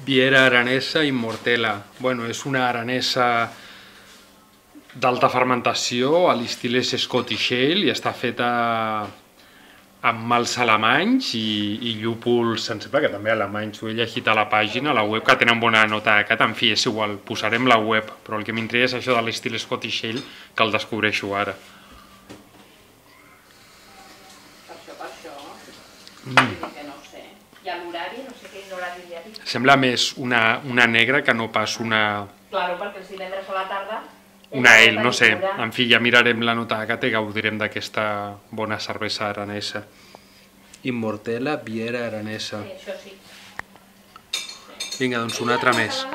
Viera aranesa Immortella. Bueno, és una aranesa d'alta fermentació a l'estil Scottish Ale i està feta amb mals alemanys i llúpols, em sembla que també alemanys, ho he llegit a la pàgina, a la web, que tenen bona nota de cat. En fi, és igual, posarem la web, però el que m'intriga és això de l'estil Scottish Ale, que el descobreixo ara. Per això. Que no sé. I a l'horari, no sé quin horari hi ha dit. Sembla més una negra que no pas una... Claro, perquè els divendres a la tarda... Una ale, no sé. En fi, ja mirarem la nota de cat i gaudirem d'aquesta bona cervesa aranesa. Immortella, Viera aranesa. Sí, això sí. Vinga, doncs una altra més.